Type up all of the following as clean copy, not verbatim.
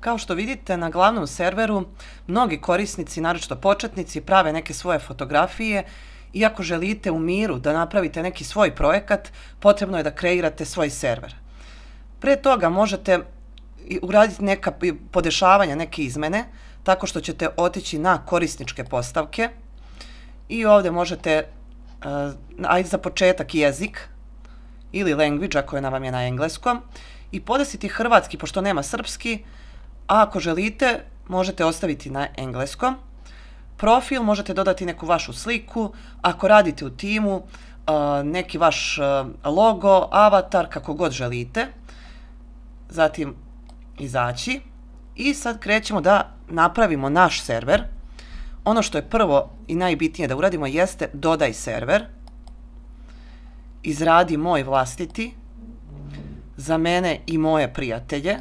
Kao što vidite, na glavnom serveru mnogi korisnici, naročito početnici, prave neke svoje fotografije i ako želite u miru da napravite neki svoj projekat, potrebno je da kreirate svoj server. Pre toga možete uraditi neka podešavanja, neke izmene, tako što ćete otići na korisničke postavke i ovdje možete, ajde za početak jezik ili language ako vam je na engleskom, i podesiti hrvatski pošto nema srpski, a ako želite možete ostaviti na engleskom. Profil možete dodati neku vašu sliku, ako radite u timu neki vaš logo, avatar, kako god želite. Zatim izaći i sad krećemo da napravimo naš server. Ono što je prvo i najbitnije da uradimo jeste dodaj server, izradi moj vlastiti, za mene i moje prijatelje.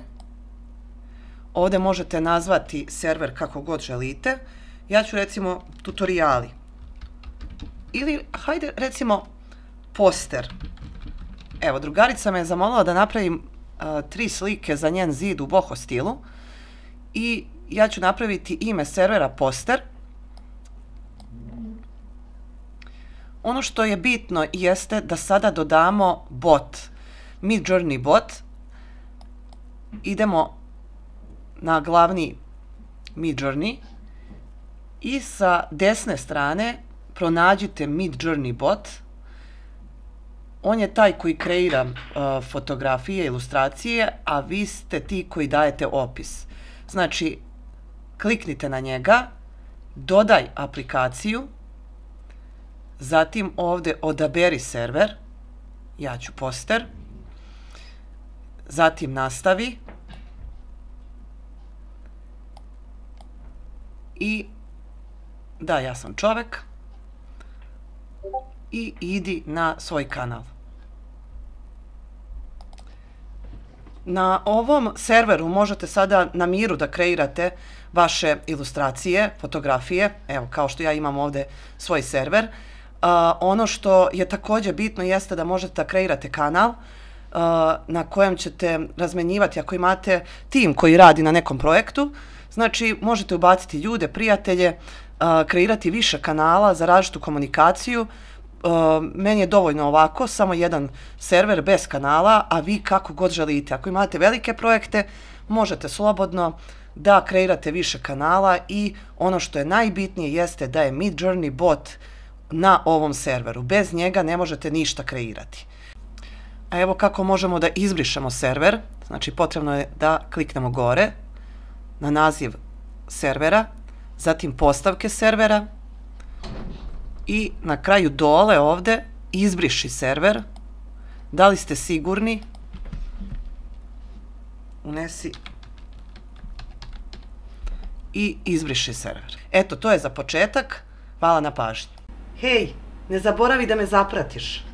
Ovdje možete nazvati server kako god želite. Ja ću recimo tutoriali. Ili hajde recimo poster. Evo, drugarica me je zamolila da napravim 3 slike za njen zid u boho stilu. I ja ću napraviti ime servera poster. Ono što je bitno jeste da sada dodamo bot. Midjourney bot. Idemo na glavni Midjourney i sa desne strane pronađite Midjourney bot. On je taj koji kreira fotografije, ilustracije, a vi ste ti koji dajete opis. Znači, kliknite na njega, dodaj aplikaciju, zatim ovdje odaberi server, ja ću poster, zatim nastavi i da, ja sam čovek i idi na svoj kanal. Na ovom serveru možete sada na miru da kreirate vaše ilustracije, fotografije, evo kao što ja imam ovdje svoj server. Ono što je također bitno jeste da možete da kreirate kanal na kojem ćete razmenjivati ako imate tim koji radi na nekom projektu. Znači možete ubaciti ljude, prijatelje, kreirati više kanala za različitu komunikaciju. Meni je dovoljno ovako, samo jedan server bez kanala, a vi kako god želite. Ako imate velike projekte, možete slobodno da kreirate više kanala i ono što je najbitnije jeste da je Midjourney bot na ovom serveru. Bez njega ne možete ništa kreirati. A evo kako možemo da izbrišemo server. Znači potrebno je da kliknemo gore na naziv servera, zatim postavke servera i na kraju dole ovdje izbriši server. Da li ste sigurni? Unesi i izbriši server. Eto, to je za početak. Hvala na pažnji. Hej, ne zaboravi da me zapratiš.